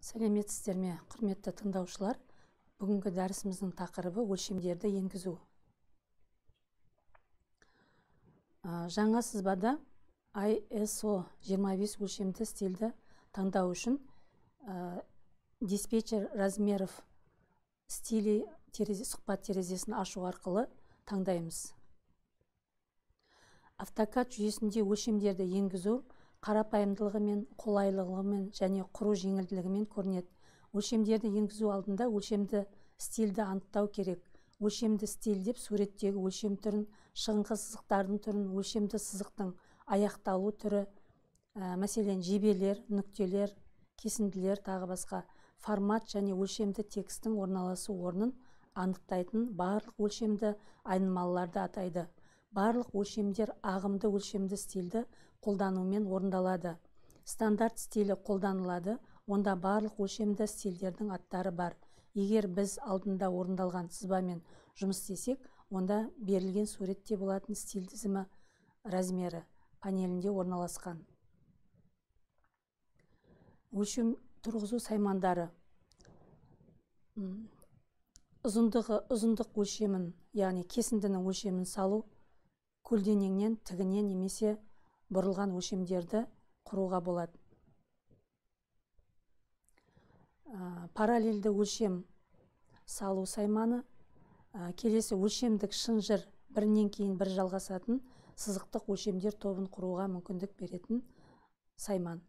Сәлеметсіздер ме, құрметті тыңдаушылар? Бүгінгі дәрісіміздің тақырыбы өлшемдерді енгізу. Жаңа сызбада ISO 25 өлшемді стильді таңдау үшін диспетчер размеров стилі сұхбат терезесін ашу арқылы таңдаймыз. AutoCAD жүйесінде өлшемдерді енгізу қарапайымдылығымен, қолайлылығымен және құру жеңілділігімен көрінеді. Өлшемдерді енгізу алдында өлшемді стильді анықтау керек. Өлшемді стиль деп суреттегі өлшем түрін, шығыңқы сызықтардың түрін, өлшемді сызықтың аяқталу түрі, мәселен жебелер, нүктелер, кесінділер, тағы басқа формат және өлшемді текстің орналасу орнын анықтайтын барлық өлшемді айнымалыларды атайды. Барлық өлшемдер ағымды өлшемді стильді қолданумен орындалады. Стандарт стилі қолданылады, онда барлық өлшемді стильдердің аттары бар. Егер біз алдында орындалған сызбамен жұмыс істесек, онда берілген суретте болатын стиль тізімі размері панелінде орналасқан. Өлшем тұрғызу саймандары. Ұзындық өлшемін, яғни кесіндінің өлшемін салу, көлденеңнен, тігінен немесе бұрылған өлшемдерді құруға болады. Параллельді өлшем салу сайманы. Келесі өлшемдік шынжыр бірінен кейін бір жалғасатын сызықтық өлшемдер тобын құруға мүмкіндік беретін сайман.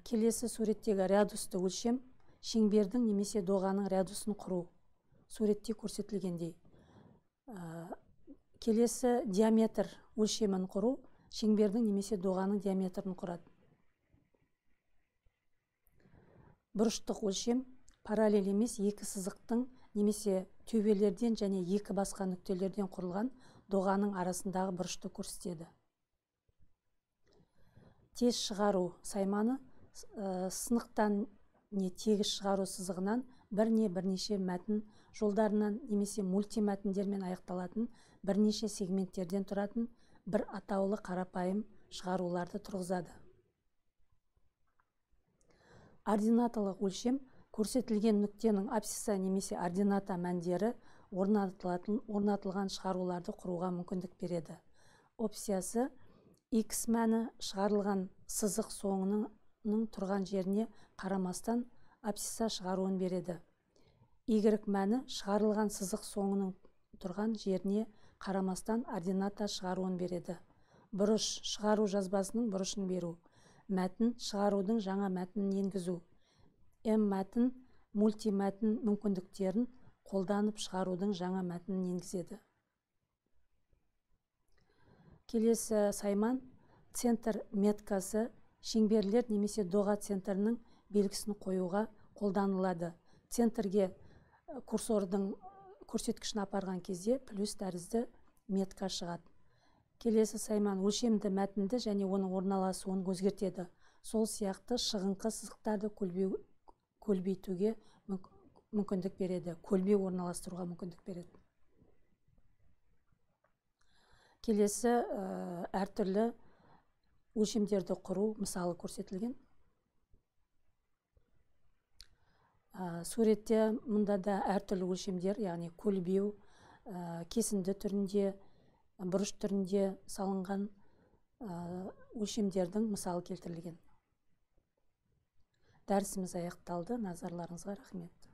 Келесі суреттегі радиусты өлшем шеңбердің немесе доғаның радиусын құру. Суретте көрсетілгендей. Келесі диаметр өлшемін құру шеңбердің немесе доғаның диаметрін құрады. Бұрыштық өлшем параллель емес екі сызықтың немесе төбелерден және екі басқа нүктелерден құрылған доғаның арасындағы бұрышты көрсетеді. Тез шығару сайманы сынықтан не тегіс шығару сызығынан бірнеше мәтін жолдарынан немесе мультимәтіндермен аяқталатын бірнеше сегменттерден тұратын бір атаулы қарапайым шығаруларды тұрғызады. Ординаталық өлшем көрсетілген нүктенің абсцисса немесе ордината мәндері орнатылған шығаруларды құруға мүмкіндік береді. Опциясы X мәні шығарылған сызық соңының тұрған жеріне қарамастан абсцисса шығаруын береді. Y мәні шығарылған сызық соңының тұрған жеріне қарамастан ордината шығаруын береді. Бұрыш шығару жазбасының бұрышын беру. Мәтін шығарудың жаңа мәтінін енгізу. Мәтін мультимәтін мүмкіндіктерін қолданып шығарудың жаңа мәтінін енгізеді. Келесі сайман центр меткасы шеңберлер немесе доға центрінің белгісін қоюға қолданылады. Центрге курсордың көрсеткішін апарған кезде плюс тәрізді метка шығады. Келесі сайман өлшемді мәтінді және оның орналасуын өзгертеді. Сол сияқты шығыңқы сызықтарды көлбейтуге мүмкіндік береді, көлбеу орналастыруға мүмкіндік береді. Келесі әртүрлі өлшемдерді құру мысалы көрсетілген. Суретте мұнда да әртүрлі өлшемдер, яғни көлбеу, кесінді түрінде, бұрыш түрінде салынған өлшемдердің мысалы келтірілген. Дәрісіміз аяқталды. Назарларыңызға рахмет.